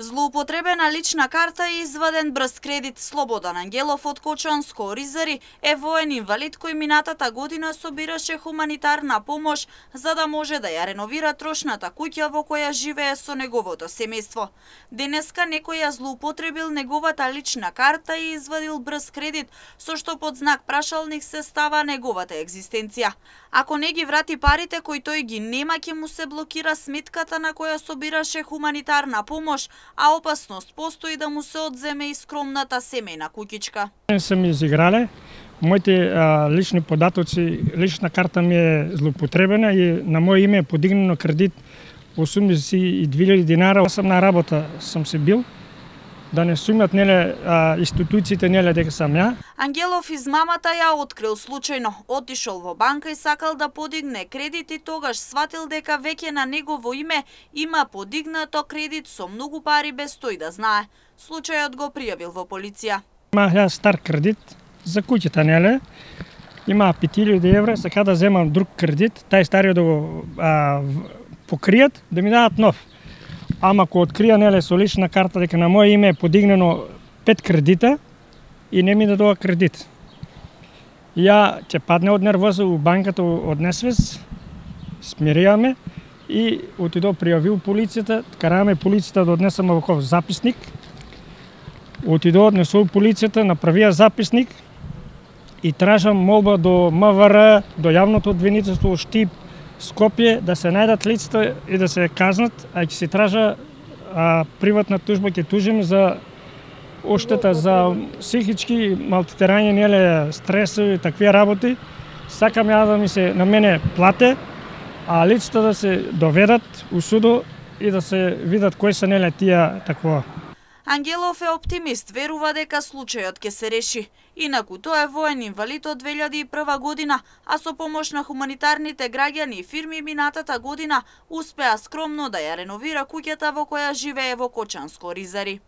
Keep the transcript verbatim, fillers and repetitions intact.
Злоупотребена лична карта и изваден брз кредит. Слободан Ангелов од Кочанско Оризари е воен инвалид кој минатата година собираше хуманитарна помош за да може да ја реновира трошната куќа во која живее со неговото семејство. Денеска некој ја злоупотребил неговата лична карта и извадил брз кредит, со што под знак прашалник се става неговата екзистенција. Ако не ги врати парите кои тој ги нема, ќе му се блокира сметката на која собираше хуманитарна помош, а опасност постои да му се одземе и скромната семејна куќичка. Се ми изиграле, моите а, лични податоци, лична карта ми е злоупотребена и на моје име е подигнено кредит осумдесет и две илјади динара. Сам на работа сум се бил, да не сумјат неле а, институциите неле дека сам ја. Ангелов измамата ја открил случајно. Отишол во банка и сакал да подигне кредит и тогаш сватил дека веќе на негово име има подигнато кредит со многу пари без тој да знае. Случајот го пријавил во полиција. Имах ја стар кредит за куќата, неле. Има пет илјади евра, сака да земам друг кредит, тај стариот да го а, покријат, да ми дадат нов. Ама ако открија неле со лична карта дека на моје име е подигнено пет кредита и не ми дадува кредит. Ја ќе падне од нервоза у банката од несвес, смиријаме и отидов пријавил полицијата, караме полицијата да однесеме ваков записник. Отидов однесол полицијата, направија записник и тражам молба до М В Р, до јавното обвинителство Штип, Скопје, да се најдат лицата и да се казнат, а ќе се тража а, приватна тужба, ќе тужим за оштета за психички малтретирање, неле стресови и такви работи. Сакам ја да ми се на мене плате, а лицата да се доведат у судо и да се видат кои се неле тие такво. Ангелов е оптимист, верува дека случајот ќе се реши. Инаку тој е воен инвалид од две илјади и прва година, а со помош на хуманитарните граѓани и фирми минатата година успеа скромно да ја реновира куќата во која живее во Кочанско Оризари.